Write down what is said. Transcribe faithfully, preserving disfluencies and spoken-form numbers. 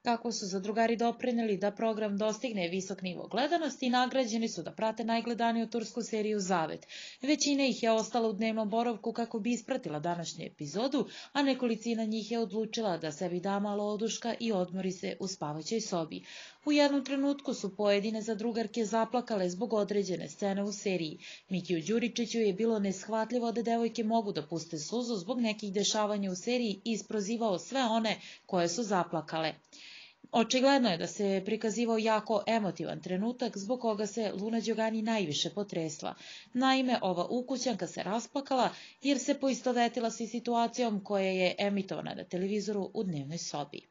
Kako su zadrugari doprineli da program dostigne visok nivo gledanosti, nagrađeni su da prate najgledaniju tursku seriju Zavet. Većina ih je ostala u dnevnom boravku kako bi ispratila današnju epizodu, a nekolicina njih je odlučila da sebi da malo oduška i odmori se u spavaćoj sobi. U jednom trenutku su pojedine zadrugarke zaplakale zbog određene scene u seriji. Mikiju Đuričiću je bilo neshvatljivo da devojke mogu da puste suzu zbog nekih dešavanja u seriji i isprozivao sve one koje su zaplakale. Očigledno je da se prikazivao jako emotivan trenutak zbog koga se Luna Đogani najviše potresla. Naime, ova ukućanka se rasplakala jer se poistovetila sa situacijom koja je emitovana na televizoru u dnevnoj sobi.